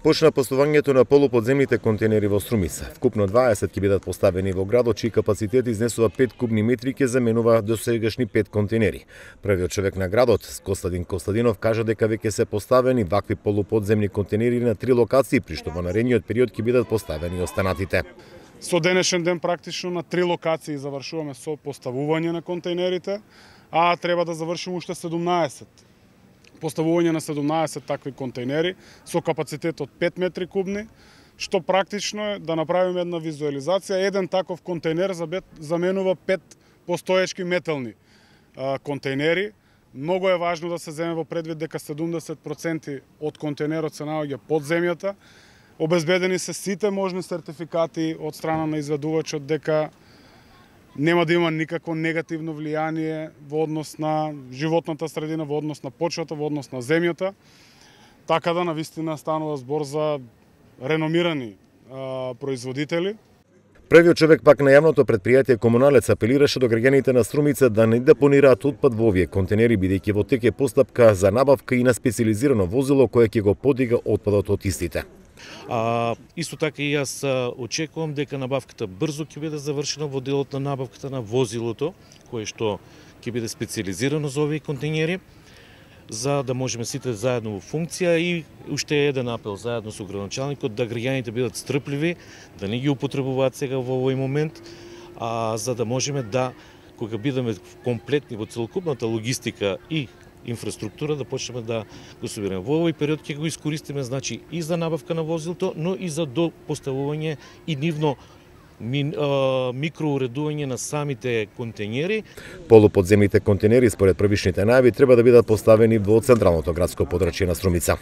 Почна постувањето на полуподземните контейнери во Струмица. Вкупно 20 ќе бидат поставени во градот, чиј капацитет изнесува 5 кубни метри, ќе заменува досегашни 5 контейнери. Првиот човек на градот, Костадин Костадинов, кажа дека веќе се поставени вакви полуподземни контейнери на 3 локации, при што во наредниот период ќе бидат поставени останатите. Со денешен ден практично на 3 локации завршуваме со поставување на контейнерите, а треба да завршиме уште 17. Поставување на 17 такви контейнери со капацитет од 5 метри кубни, што практично е да направиме една визуализација. Еден таков контейнер заменува 5 постоечки метални контейнери. Многу е важно да се земе во предвид дека 70% од контейнерот се наоѓа под земјата. Обезбедени се сите можни сертификати од страна на изведувачот дека нема да има никакво негативно влијание во однос на животната средина, во однос на почвата, во однос на земјата. Така да навистина станува збор за реномирани производители. Првиот човек пак на јавното претпријатие Комуналец апелираше до граѓаните на Струмица да не депонираат отпад во овие контейнери, бидејќи во тек е постапка за набавка и на специјализирано возило кое ќе го подига отпадот од истите. Исто така и јас очекувам дека набавката брзо ќе биде завршена во делот на набавката на возилото, кое што ќе биде специјализирано за овие контейнери, за да можеме сите заедно во функција. И уште еден апел заедно со градоначалникот да граѓаните бидат стрпливи, да не ги употребуваат сега во овој момент, за да можеме да, кога бидеме комплетни во целокупната логистика и инфраструктура, да почнеме да го собираме. Во овој период ќе го искористиме, значи, и за набавка на возилото, но и за допоставување и нивно микроуредување на самите контейнери. Полуподземните контейнери, според првичните најави, треба да бидат поставени во централното градско подрачје на Струмица.